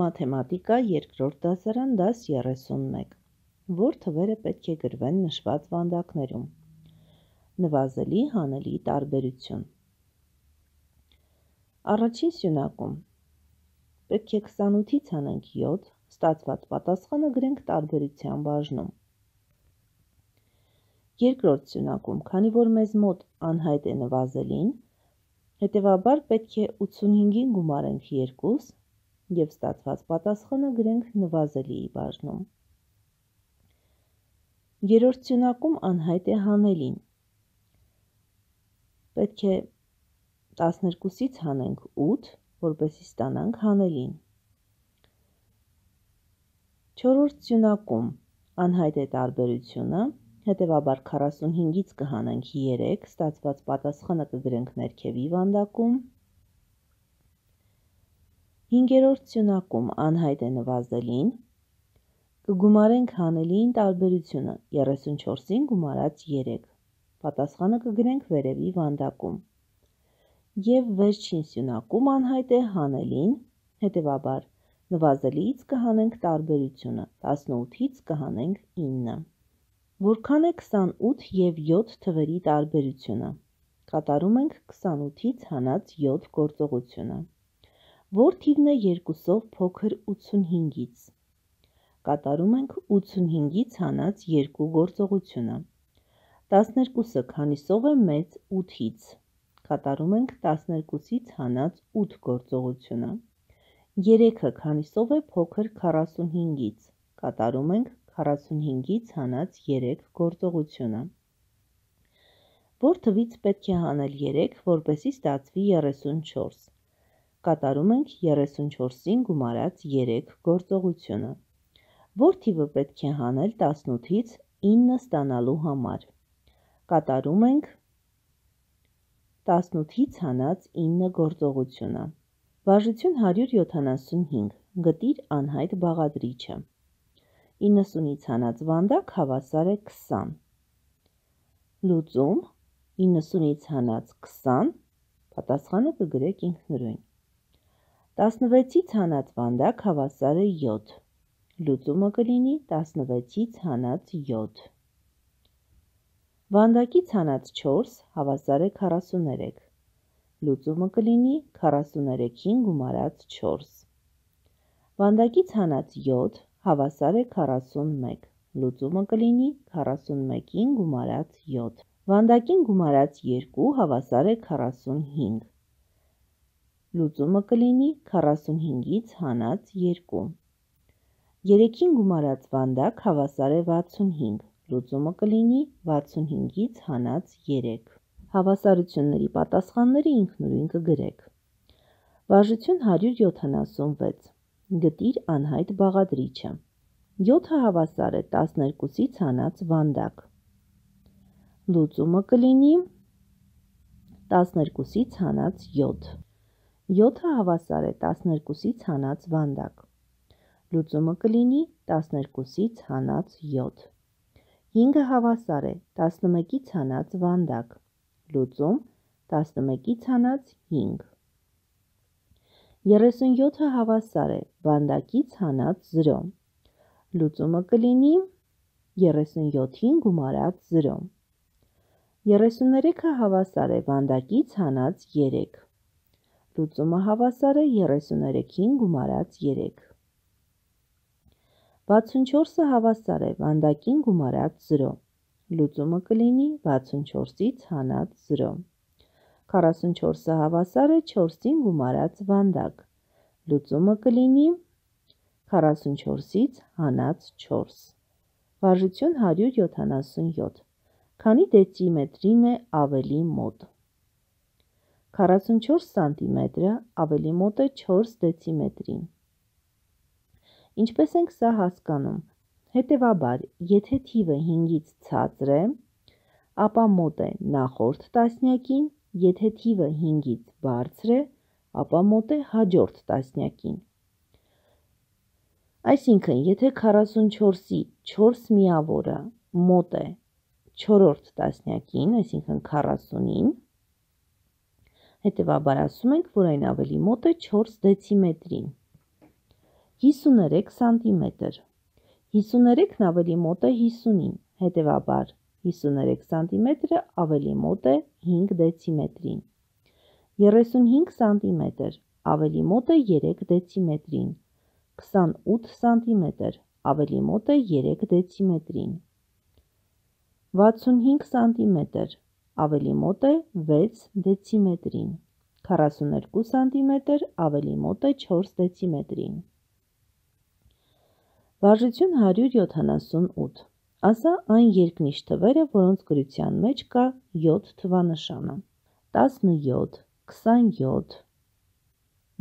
Մաթեմատիկա երկրորդ դասարան դաս 31, որ թվերը պետք է գրվեն նշված վանդակներում։ Նվազելի հանելի տարբերություն։ Առաջին սյունակում պետք է 28-ից հանենք 7, ստացված պատասխանը գրենք տարբերության բաժնում։ Երկրորդ սյունակում, քանի որ մեզ մոտ անհայտ է նվազելին, հետևաբար պետք է 85-ին գումարենք 2 և ստացված պատասխանը գրենք նվազելիի բաժնում։ Երրորդ սյունակում անհայտ է հանելին։ Պետք է 12-ից հանենք 8, որպեսզի ստանանք հանելին։ Չորրորդ սյունակում անհայտ է տարբերությունը, հետևաբար 45-ից կհանենք 3, ստացված պատասխանը կգրենք ներքևի վանդակում։ Հինգերորդ սյունակում անհայտ է նվազելին, կգումարենք հանելիին տարբերությունը 34-ին գումարած 3, պատասխանը կգրենք վերևի վանդակում։ Եվ վերջին սյունակում անհայտ է հանելին, հետևաբար նվազելիից կհանենք տարբերությունը, 18-ից կհանենք 9։ Որքան է 28 և 7 թվերի տարբերությունը։ Կատարում ենք 28-ից հանած 7 գործողությունը։ Որ թիվն է 2-ով փոքր 85-ից։ Կատարում ենք 85-ից հանած 2 գործողությունը։ 12-ը քանիսով է մեծ 8-ից։ Կատարում ենք 12-ից հանած 8 գործողությունը։ 3-ը քանիսով է փոքր 45-ից։ Կատարում ենք 45-ից հանած 3 գործողությունը։ Որ թվից պետք է հանել 3, որպեսզի ստացվի 34։ Կատարում ենք 34-ին գումարած 3 գործողությունը։ Որ թիվը պետք է հանել 18-ից 9 ստանալու համար։ Կատարում ենք 18-ից հանած 9 գործողությունը։ Վարժություն 175, գտիր անհայտ բաղադրիչը։ 90-ից հանած վանդակ հավասար է 20։ Լուծում 90-ից հանած 20, պատասխանը կգրեք ինքնուրույն։ 16-ից հանած վանդակ հավասար է 7։ Լուծումը կլինի 16-ից հանած 7։ Վանդակից հանած 4 հավասար է 43։ Լուծումը կլինի 43-ին գումարած 4։ Վանդակից հանած 7 հավասար է 41։ Լուծումը կլինի 41-ին գումարած 7։ Վանդակին գումարած 2 հավասար է 45։ Լուծումը կլինի 45-ից հանած 2։ 3-ին գումարած վանդակ հավասար է 65։ Լուծումը կլինի 65-ից հանած 3։ Հավասարությունների պատասխանները ինքնուրույն կգրեք։ Վարժություն 176, գտիր անհայտ բաղադրիչը։ 7-ը հավասար է 12-ից հանած վանդակ։ Լուծումը կլինի 12-ից հանած 7։ 7-ը հավասար է 12-ից հանած վանդակ։ Լուծումը կլինի 12-ից հանած 7։ 5-ը հավասար է 11-ից հանած վանդակ։ Լուծում 11-ից հանած 5։ 37-ը հավասար է վանդակից հանած 0։ Լուծումը կլինի 37-ին գումարած 0։ 33-ը հավասար է վանդակից հանած 3։ Լուծումը հավասար է 33-ին գումարած 3։ 64-ը հավասար է վանդակին գումարած 0։ Լուծումը կլինի 64-ից հանած 0։ 44-ը հավասար է 4-ին գումարած վանդակ։ Լուծումը կլինի 44-ից հանած 4։ Վարժություն 177, քանի դեցիմետրին է ավելի մոտ։ 44 սանտիմետրը ավելի մոտ է 4 դեցիմետրին։ Ինչպես ենք սա հասկանում։ Հետևաբար, եթե թիվը 5-ից ցածր է, ապա մոտ է նախորդ տասնյակին, եթե թիվը 5-ից բարձր է, ապա մոտ է հաջորդ տասնյակին։ Այսինքն, եթե 44-ի 4 միավորը մոտ է 4-րդ տասնյակին, այսինքն 40-ին, հետևաբար ասում ենք, որ այն ավելի մոտ է 4 դեցիմետրին։ 53 սանտիմետր։ 53-ն ավելի մոտ է 50-ին, հետևաբար 53 սանտիմետրը ավելի մոտ է 5 դեցիմետրին։ 35 սանտիմետր ավելի մոտ է 3 դեցիմետրին։ 28 սանտիմետր ավելի մոտ է 3 դեցիմետրին։ 65 սանտիմետր ավելի մոտ է 6 դեցիմետրին։ 42 սանտիմետր ավելի մոտ է 4 դեցիմետրին։ Վարժություն 178։ Ասա այն երկնիշ թվերը, որոնց գրության մեջ կա 7 թվանշանը։ 17, 27,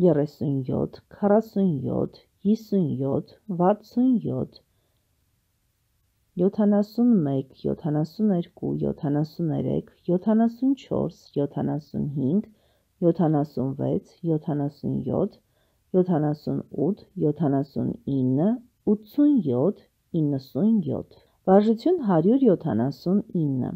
37, 47, 57, 67, 71, 72, 73, 74, 75, 76, 77, 78, 79, 87, 97։ Վարժություն 179։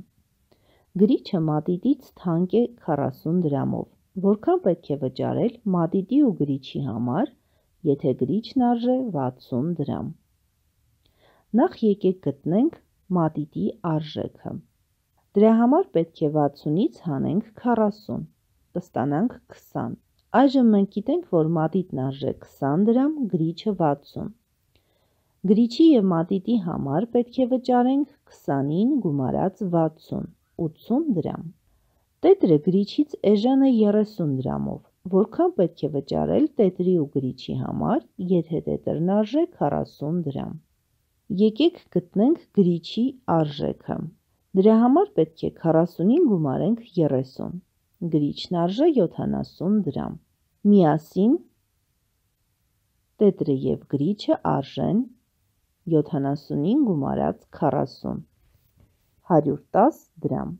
Գրիչը մատիտից թանկ է 40 դրամով։ Որքան պետք է վճարել մատիտի ու գրիչի համար, եթե գրիչն արժե 60 դրամ։ Նախ եկեք գտնենք մատիտի արժեքը։ Դրա համար պետք է 60-ից հանենք 40, կստանանք 20։ Այժմ մենք գիտենք, որ մատիտն արժե 20 դրամ, գրիչը 60։ Գրիչի և մատիտի համար պետք է վճարենք 20-ին գումարած 60, 80 դրամ։ Տետրը գրիչից էժան է 30 դրամով։ Որքան պետք է վճարել տետրի ու գրիչի համար, եթե տետրն արժե 40 դրամ։ Եկեք գտնենք գրիչի արժեքը։ Դրա համար պետք է 40-ին գումարենք 30։ Գրիչն արժե 70 դրամ։ Միասին տետրը և գրիչը արժեն 70-ին գումարած 40, 110 դրամ։